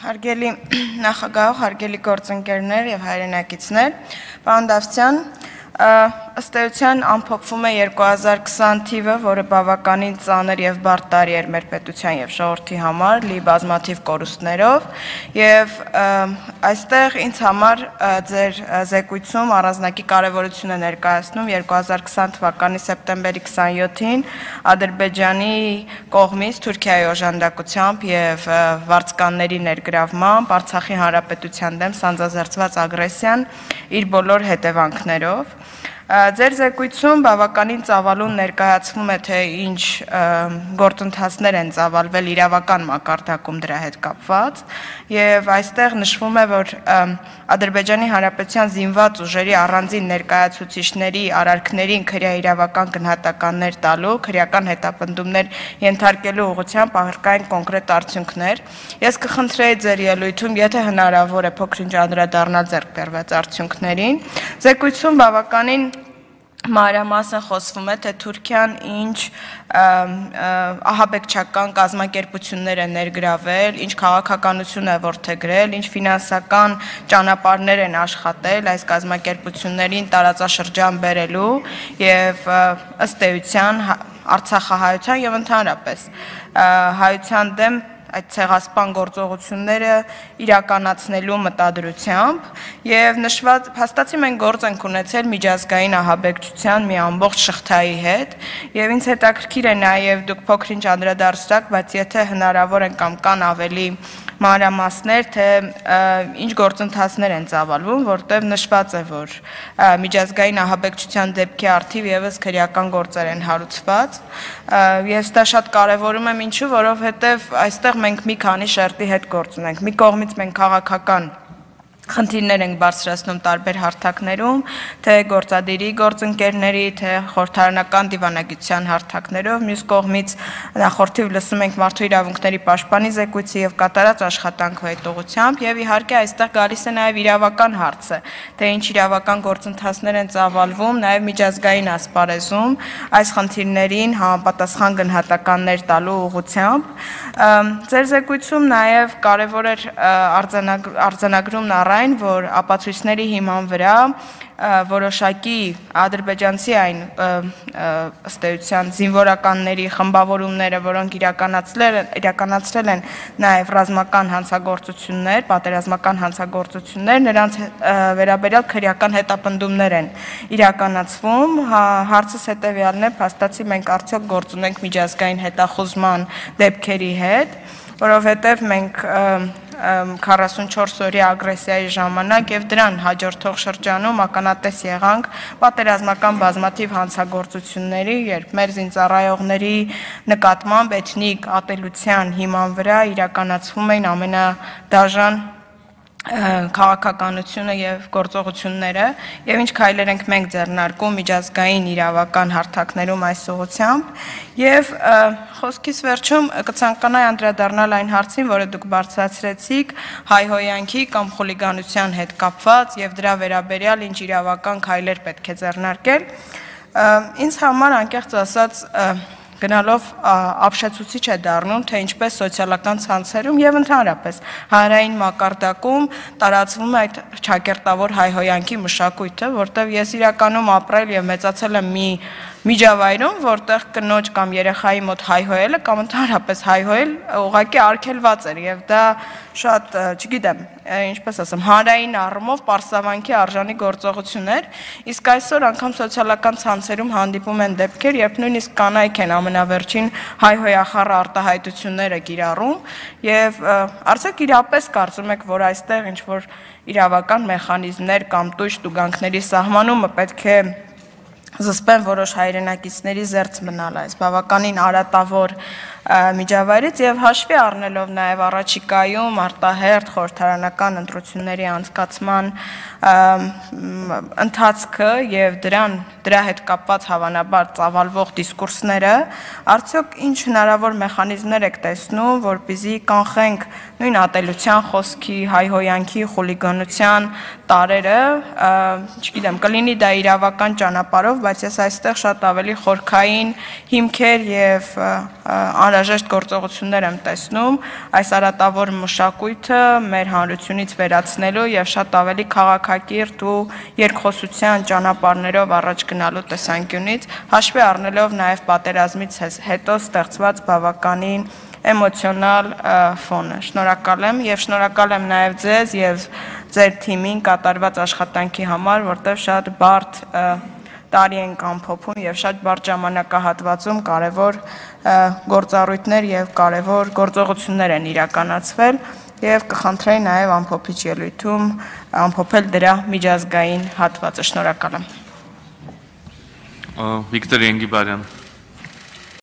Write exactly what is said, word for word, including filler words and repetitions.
Հարգելի նախագահ, հարգելի գործընկերներ եւ հայրենակիցներ, պարոն Դավթյան, ըստ էության ամփոփվում է երկու հազար քսան թիվը, որը բավականին ծանր եւ բարդ տարի էր մեր պետության եւ ժողովրդի համար, լի բազմաթիվ կորուստներով, եւ այստեղ ինձ համար ձեր զեկույցում առանձնակի կարեւորություն է ներկայացնում երկու հազար քսան թվականի սեպտեմբերի քսանյոթին Ադրբեջանի կողմից Թուրքիայի օժանդակությամբ եւ վարձկանների ներգրավմամբ Արցախի հանրապետության դեմ սանձազերծված ագրեսիան իր բոլոր հետևանքներով Ձեր զեկույցում բավականին ծավալուն ներկայացվում է, թե ինչ գործընթացներ են ծավալվել իրավական մակարդակում դրա հետ կապված եւ այստեղ նշվում է, որ Ադրբեջանի Հանրապետության զինված ուժերի առանձին ներկայացուցիչների արարքներին քրեա իրավական գնահատականներ տալու, քրեական հետապնդումներ ենթարկելու ուղղությամբ արկային կոնկրետ արդյունքներ։ Ես կխնդրեի ձեր ելույթում, եթե հնարավոր է փոքր-ինչ անդրադառնալ ձեռք բերված արդյունքներին։ Զեկույցում բավականին մանրամասն խոսվում է, թե Թուրքիան ինչ ահաբեկչական կազմակերպություններ է ներգրավել, ինչ քաղաքականություն է որդեգրել, ինչ ֆինանսական ճանապարհներ են աշխատել այս կազմակերպություններին տարածաշրջան բերելու եւ ըստ էության Արցախահայության եւ ընդհանրապես հայության դեմ այդ ցեղասպան գործողությունները իրականացնելու մտադրությամբ եւ նշված փաստացի մենք գործ ենք ունեցել միջազգային ահաբեկչության մի ամբողջ շղթայի հետ եւ ինձ հետաքրքիր է նաեւ դուք փոքր-ինչ անդրադարձաք, բայց եթե հնարավոր է կամ կան ավելի մանրամասներ, թե ինչ գործընթացներ են ծավալվում, որտեղ նշված է, որ միջազգային ահաբեկչության դեպքի առթիվ եւս քրեական գործեր են հարուցված։ Ես դա շատ կարեւորում եմ, ինչու, որովհետեւ այստեղ մենք մի քանի շերտի հետ գործ ունենք։ Մի կողմից մենք քաղաքական խնդիրներ ենք բարձրացնում տարբեր հարթակներում, թե գործադիրի գործընկերների, թե խորհրդարանական դիվանագիտության հարթակներով, մյուս կողմից նախորդիվ լսում ենք մարդու իրավունքների պաշտպանի զեկույցի եւ կատարած աշխատանքով այդ ուղղությամբ եւ իհարկե այստեղ գալիս է նաեւ իրավական հարցը, թե ինչ իրավական գործընթացներ են ծավալվում նաեւ միջազգային ասպարեզում այս խնդիրներին համապատասխան գնահատականներ տալու ուղղությամբ։ Ձեր զեկույցում նաեւ կարեւոր էր արձանագրումն առ որ ապացույցների հիման վրա որոշակի ադրբեջանցի այն ըստ էության զինվորականների խմբավորումները, որոնք իրականացրել են նաև ռազմական հանցագործություններ, պատերազմական հանցագործություններ, նրանց վերաբերյալ քրեական հետապնդումներ են իրականացվում։ Հարցս հետևյալն է, փաստացի մենք արդյոք գործ ունենք միջազգային հետախուզման դեպքերի հետ, որովհետև մենք քառասունչորս օրյա ագրեսիայի ժամանակ եւ դրան հաջորդող շրջանում ականատես եղանք պատերազմական բազմաթիվ հանցագործությունների, երբ մեր զինծառայողների նկատմամբ էթնիկ ատելության հիման վրա իրականացվում էին ամենադաժան քաղաքականությունը եւ գործողությունները եւ ինչ քայլեր ենք մենք ձեռնարկում միջազգային իրավական հարթակներում այս ուղղությամբ եւ խոսքիս վերջում կցանկանայի անդրադառնալ այն հարցին, որը դուք բարձրացրեցիք հայհոյանքի կամ խուլիգանության հետ կապված եւ դրա վերաբերյալ ինչ իրավական քայլեր պետք է ձեռնարկել։ Ինձ համար անկեղծ ասած գնալով ապշեցուցիչ է դառնում, թե ինչպես սոցիալական ցանցերում եւ ընդհանրապես հանրային մակարդակում տարածվում է այդ ճակերտավոր հայհոյանքի մշակույթը, որտեղ ես իրականում ապրել եւ մեծացել եմ մի միջավայրում, որտեղ կնոջ կամ երեխայի մոտ հայհոյելը կամ ընդհանրապես հայհոյել ուղղակի արգելված էր եւ դա շատ, չգիտեմ, ինչպես ասեմ, հանրային առումով պարսավանքի արժանի գործողություն էր, իսկ այսօր անգամ սոցիալական ցանցերում հանդիպում են դեպքեր, երբ նույնիսկ կանայք են ամենավերջին հայհոյախառ արտահայտությունները կիրառում եւ արդյոք իրապես կարծում եք, որ այստեղ ինչ որ իրավական մեխանիզմներ կամ տույժ տուգանքների սահմանումը պետք է զսպեն որոշ հայրենակիցների զերծ մնալ այս բավականին արատավոր միջավայրից եւ հաշվի առնելով նաեւ առաջիկայում արտահերթ խորհրդարանական ընտրությունների անցկացման ընթացքը եւ դրան դրա հետ կապված հավանաբար ծավալվող դիսկուրսները, արդյոք ինչ հնարավոր մեխանիզմներ եք տեսնում, որպեսզի կանխենք նույն ատելության խոսքի, հայհոյանքի, խուլիգանության տարերը, չգիտեմ, կլինի դա իրավական ճանապարհով, բայց ես այստեղ շատ ավելի խորքային հիմքեր եւ անհրաժեշտ գործողություններ եմ տեսնում այս արատավոր մշակույթը մեր հանրությունից վերացնելու եւ շատ ավելի քաղաքակիրթ ու երկխոսության ճանապարհներով առաջ գնալու տեսանկյունից, հաշվի առնելով նաեւ պատերազմից հետո ստեղծված բավականին էմոցիոնալ ֆոնը։ Շնորհակալ եմ եւ շնորհակալ եմ նաեւ ձեզ եւ ձեր թիմին կատարված աշխատանքի համար, որտեղ շատ բարդ տարի ենք ամփոփում եւ շատ բարդ ժամանակահատվածում կարեւոր գործառույթներ եւ կարեւոր գործողություններ են իրականացվել եւ կխնդրեի նաեւ ամփոփիչ ելույթում ամփոփել դրա միջազգային հատվածը։ Շնորհակալ եմ։ Վիկտոր Ենգիբարյան